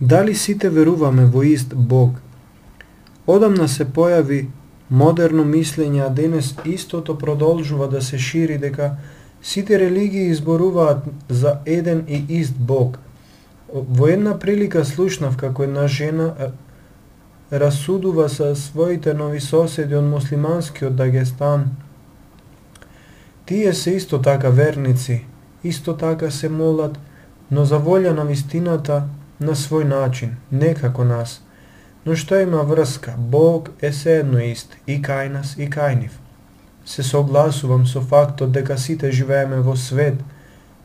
Дали сите веруваме во ист Бог? Одамна се појави модерно мислење, а денес истото продолжува да се шири дека сите религии изборуваат за еден и ист Бог. Во една прилика слушнав како една жена расудува со своите нови соседи од муслиманскиот Дагестан. Тие се исто така верници, исто така се молат, но за волја на вистината на свој начин, не како нас. Но што има врска? Бог е седно ист, и кај нас, и кај нив. Се согласувам со фактот дека сите живееме во свет,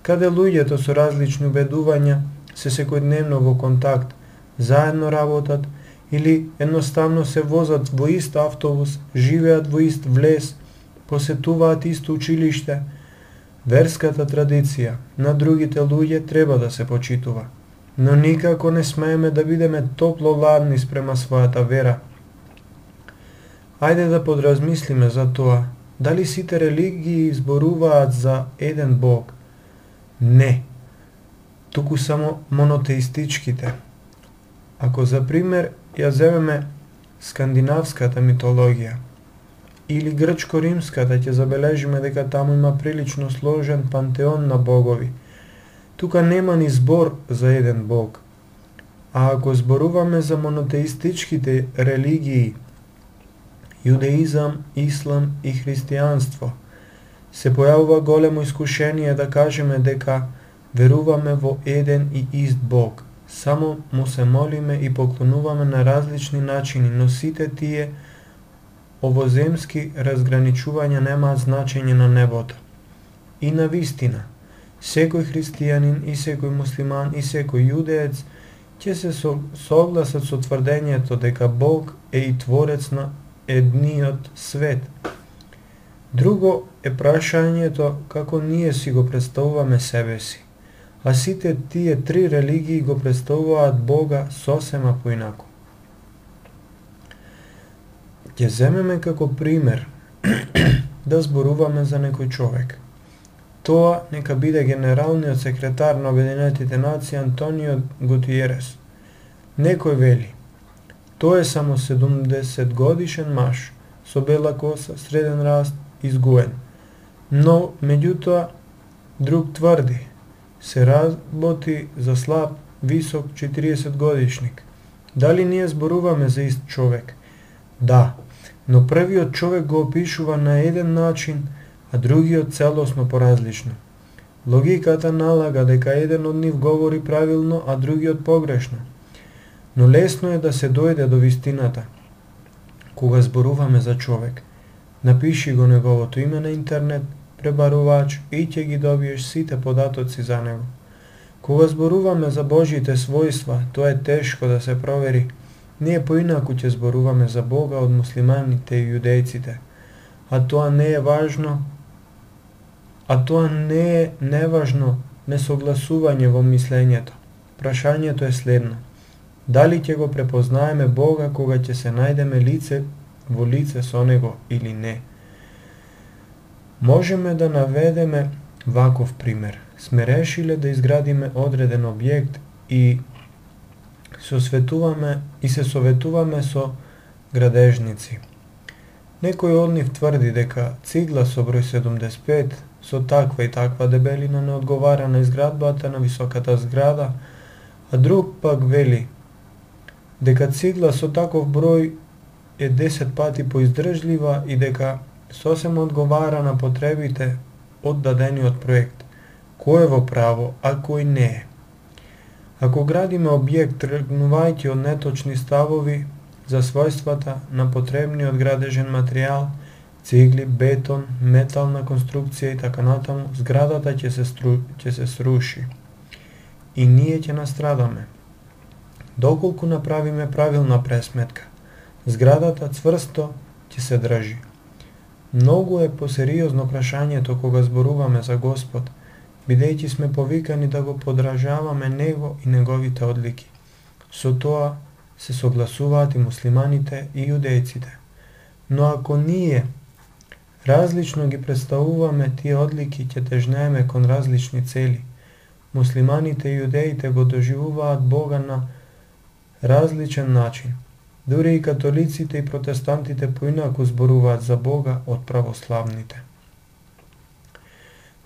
каде луѓето со различни убедувања се секојдневно во контакт, заедно работат или едноставно се возат во ист автобус, живеат во ист влез, посетуваат исто училиште. Верската традиција на другите луѓе треба да се почитува, но никако не смееме да бидеме топло-ладни спрема својата вера. Ајде да подразмислиме за тоа, дали сите религии изборуваат за еден Бог? Не, туку само монотеистичките. Ако за пример ја земеме скандинавската митологија или грчко-римската, ќе забележиме дека таму има прилично сложен пантеон на богови. Тука нема ни збор за еден Бог. А ако зборуваме за монотеистичките религии, јудеизам, ислам и христијанство, се појавува големо искушение да кажеме дека веруваме во еден и ист Бог. Само му се молиме и поклонуваме на различни начини, но сите тие овоземски разграничувања немаат значење на небото. И на вистина, секој христијанин и секој муслиман и секој јудеец ќе се согласат со тврдењето дека Бог е и творец на едниот свет. Друго е прашањето како ние си го представуваме себе си, а сите тие три религии го представуваат Бога сосема поинаку. Ќе земеме како пример да зборуваме за некој човек. Тоа нека биде генералниот секретар на Обединетите нации Антонио Гутиерес. Некој вели, тој е само 70 годишен маж, со бела коса, среден раст, изгуен. Но, меѓутоа, друг тврди, се работи за слаб, висок 40 годишник. Дали ние зборуваме за ист човек? Да, но првиот човек го опишува на еден начин, а другиот целосно поразлично. Логиката налага дека еден од нив говори правилно, а другиот погрешно. Но лесно е да се дојде до вистината. Кога зборуваме за човек, напиши го неговото име на интернет, пребарувач и ќе ги добиеш сите податоци за него. Кога зборуваме за Божите својства, тоа е тешко да се провери. Ние поинаку ќе зборуваме за Бога од муслиманите и јудејците. А тоа не е важно, неважно несогласување во мислењето. Прашањето е следно. Дали ќе го препознаеме Бога кога ќе се најдеме лице во лице со Него или не? Можеме да наведеме ваков пример. Сме решиле да изградиме одреден објект и се советуваме со градежници. Некој од нив тврди дека цигла со број 75 со таква и таква дебелина не одговара на изградбата на високата зграда, а друг пак вели дека цигла со таков број е 10 пати поиздржлива и дека сосема одговара на потребите од дадениот проект. Кој е во право, а кој не е? Ако градиме објект тргнувајќи од неточни ставови за својствата на потребниот градежен материјал, цигли, бетон, метална конструкција и така натаму, зградата ќе се сруши. И ние ќе настрадаме. Доколку направиме правилна пресметка, зградата цврсто ќе се држи. Многу е посериозно прашањето кога зборуваме за Господ, бидејќи сме повикани да го подражаваме Него и Неговите одлики. Со тоа се согласуваат и муслиманите и јудејците. Но ако ние различно ги представуваме тие одлики, ќе тежнееме кон различни цели. Муслиманите и јудеите го доживуваат Бога на различен начин. Дури и католиците и протестантите поинаку зборуваат за Бога од православните.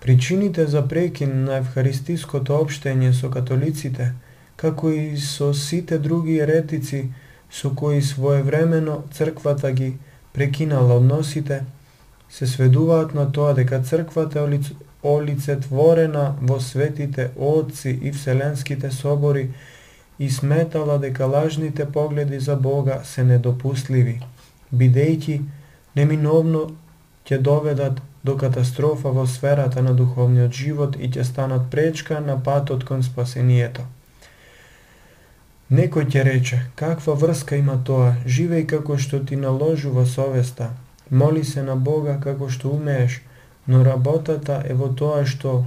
Причините за прекин на евхаристиското општење со католиците, како и со сите други еретици со кои своевремено црквата ги прекинала односите, се сведуваат на тоа дека црквата е олицетворена во светите отци и вселенските собори и сметала дека лажните погледи за Бога се недопустливи, бидејќи неминовно ќе доведат до катастрофа во сферата на духовниот живот и ќе станат пречка на патот кон спасението. Некој ќе рече, каква врска има тоа, живеј како што ти наложува совеста, моли се на Бога како што умееш, но работата е во тоа што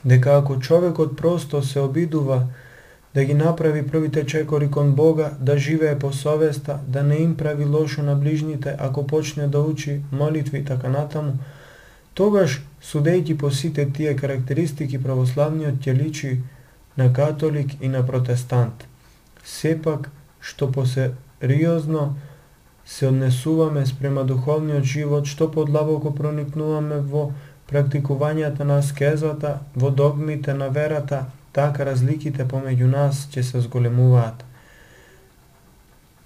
дека ако човекот просто се обидува да ги направи првите чекори кон Бога, да живее по совеста, да не им прави лошо на ближните, ако почне да учи молитви и така натаму, тогаш, судејќи по сите тие карактеристики, православниот ќе личи на католик и на протестант. Сепак, што посериозно се однесуваме спрема духовниот живот, што подлабоко проникнуваме во практикувањето на аскезата, во догмите на верата, така разликите помеѓу нас ќе се зголемуваат.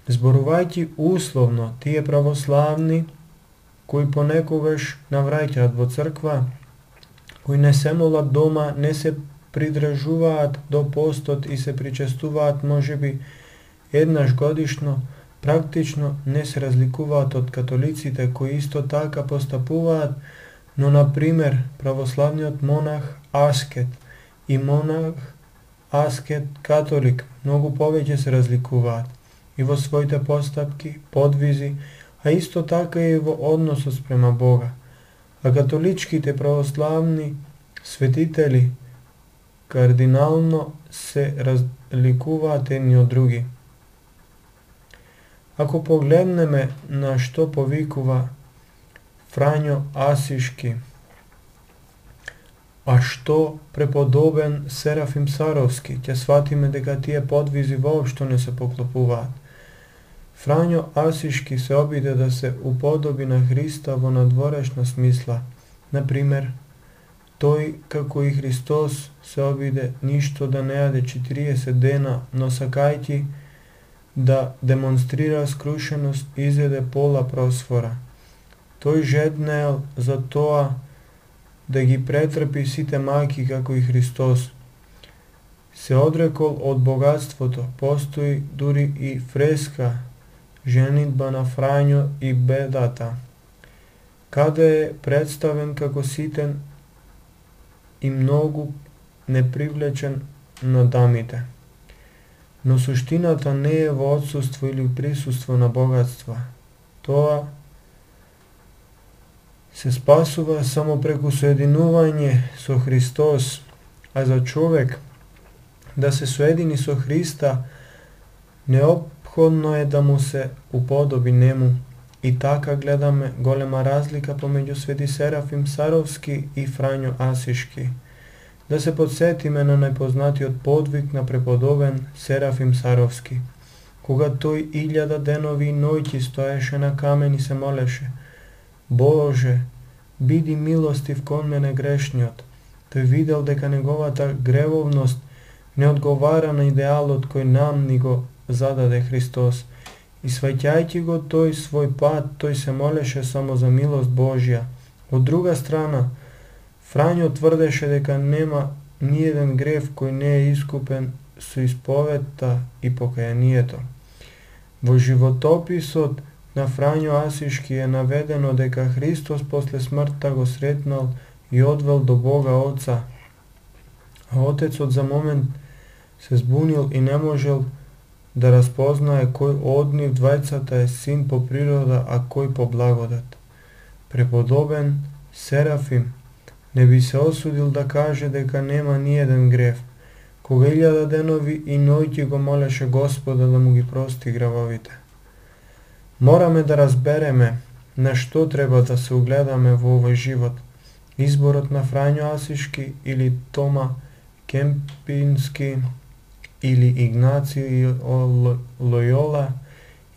Зборувајќи условно, тие православни, кои понекогаш навраќаат во црква, кои не се молат дома, не се придржуваат до постот и се причестуваат можеби еднаш годишно, практично не се разликуваат од католиците кои исто така постапуваат, но на пример православниот монах аскет и монах аскет католик многу повеќе се разликуваат и во своите постапки, подвизи, а исто така и во односот спрема Бога. А католичките православни светители кардинално се разликуваат едни од други. Ако погледнеме на што повикува Фрањо Асишки, а што преподобен Серафим Саровски, ќе сватиме дека тие подвизи воопшто не се поклопуваат. Фрањо Асишки се обиде да се уподоби на Христа во надворешна смисла. Например, тој, како и Христос, се обиде ништо да не јаде 40 дена, но сакајќи да демонстрира скрушеност, изеде пола просфора. Тој жеднеел за тоа да ги претрпи сите маки како и Христос. Се одрекол од богатството, постои дури и фреска женитба на Фрањо и бедата, каде е представен како ситен и многу непривлечен на дамите. Но суштината не е во отсуство или присуство на богатства. Тоа се спасува само преку соединување со Христос, а за човек да се соедини со Христа, неопходно е да му се уподоби нему. И така гледаме голема разлика помеѓу Свети Серафим Саровски и Фрањо Асишки. Да се подсетиме на најпознатиот подвиг на преподобен Серафим Саровски, кога тој 1000 денови и ноќи стоеше на камен и се молеше: Боже, биди милостив кон мене грешниот. Тој видел дека неговата гревовност не одговара на идеалот кој нам ни го зададе Христос. И сваќајќи го тој свој пат, тој се молеше само за милост Божја. Од друга страна, Фрањо тврдеше дека нема ниеден грев кој не е искупен со исповедта и покајанието. Во животописот на Фрањо Асишки е наведено дека Христос после смртта го сретнал и одвел до Бога Отца. А Отецот за момент се збунил и не можел да распознае кој од нив двајцата е син по природа, а кој по благодат. Преподобен Серафим не би се осудил да каже дека нема ниеден грев, кога 1000 денови и ноќи го молеше Господа да му ги прости гревовите. Мораме да разбереме на што треба да се угледаме во овој живот. Изборот на Фрањо Асишки или Тома Кемпински или Игнациј Лојола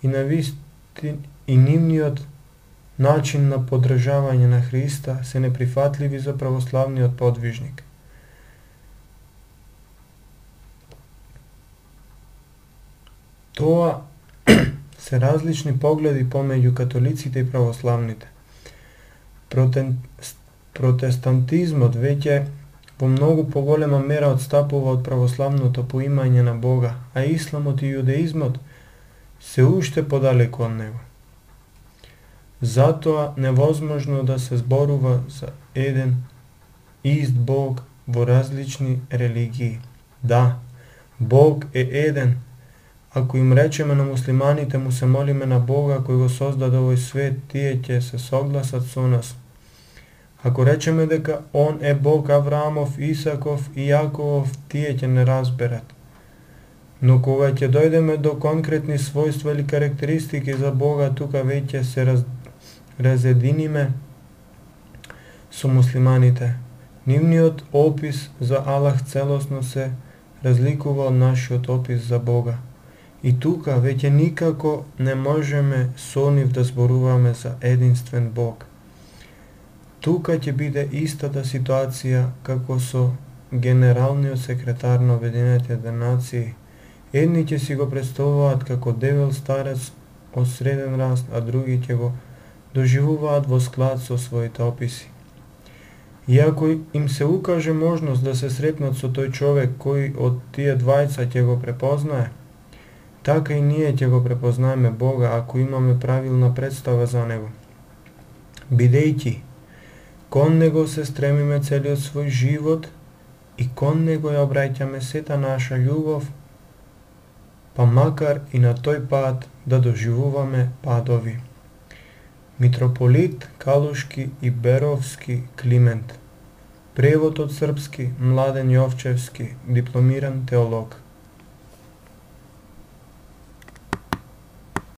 и нивниот начин на подржавање на Христа се неприфатливи за православниот подвижник. Тоа се различни погледи помеѓу католиците и православните. Протестантизмот веќе во многу поголема мера отстапува од православното поимање на Бога, а исламот и јудеизмот се уште подалеку од него. Затоа невозможно да се зборува за еден ист Бог во различни религии. Да, Бог е еден. Ако им речеме на муслиманите му се молиме на Бога кој го создаде овој свет, тие ќе се согласат со нас. Ако речеме дека Он е Бог Авраамов, Исаков и Јаковов, тие ќе не разберат. Но кога ќе дојдеме до конкретни својства или карактеристики за Бога, тука веќе се разединиме со муслиманите. Нивниот опис за Аллах целосно се разликува од нашиот опис за Бога. И тука веќе никако не можеме со нив да зборуваме за единствен Бог. Тука ќе биде истата ситуација како со генералниот секретар на Обединетите нации. Едни ќе си го представуваат како дебел старец од среден раст, а други ќе го доживуваат во склад со своите описи. И ако им се укаже можност да се сретнат со тој човек кој од тие двајца ќе го препознае, така и ние ќе го препознаеме Бога ако имаме правилна представа за него. Бидејќи кон него се стремиме целиот свој живот и кон него ја обраќаме сета наша љубов, па макар и на тој пат да доживуваме падови. Митрополит Калушки и Беровски Климент. Превод од српски Младен Јовчевски, дипломиран теолог.